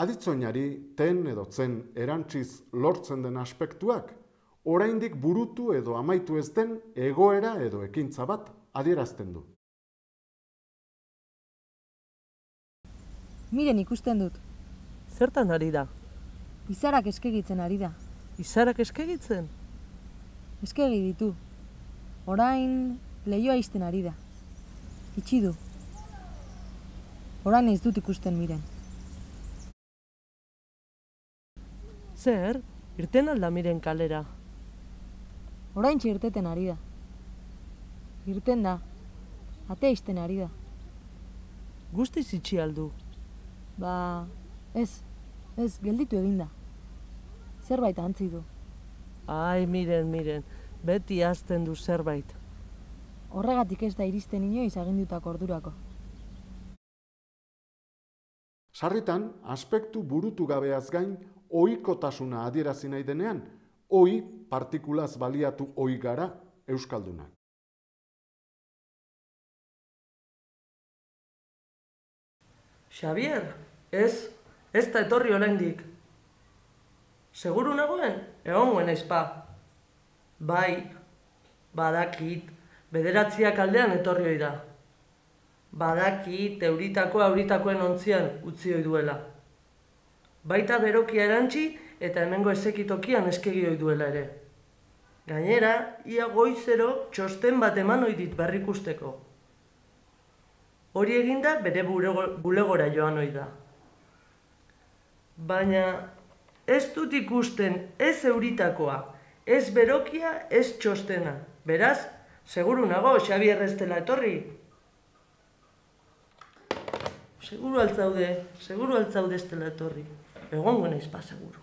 Aditzoinari ten edo zen erantziz lortzen den aspektuak, oraindik burutu edo amaitu ez den egoera edo ekintza bat adierazten du. Miren ikusten dut. Zertan ari da? Izarak eskegitzen ari da. Izarak eskegitzen? Eskegi ditu. Orain leihoa ixten ari da. Itxi du. Orain ez dut ikusten Miren. Zer? Irten alda Miren kalera? Oraintxe irteten ari da. Irten da. Atea ixten ari da. Guztiz itxi aldu. Ba, ez, gelditu eginda. Zerbait antzi du. Ai, Miren, beti hazten du zerbait. Horregatik ez da iristen inoiz agindutako ordurako. Sarritan, aspektu burutu gabeaz gain, ohikotasuna adierazi nahi denean, ohi partikulaz baliatu ohi gara euskaldunak. Xabier, ez da etorri oraindik. Seguru nagoen, egongoen aizpa. Bai, badakit, 9 aldean etorri ohi da. Badakit, euritakoen ontzian utzi ohi duela. Baita berokia erantzi eta hemengo ezekitokian eskegi ohi duela ere. Gainera, ia goizero txosten bat eman ohi dit berrikusteko. Hori eginda bere bulegora joan ohi da. Baina ez dut ikusten ez euritakoa, ez berokia, ez txostena. Beraz, seguru nago Xabier ez dela etorri. Seguru altzaude ez dela etorri. Egongo naiz ba, seguru.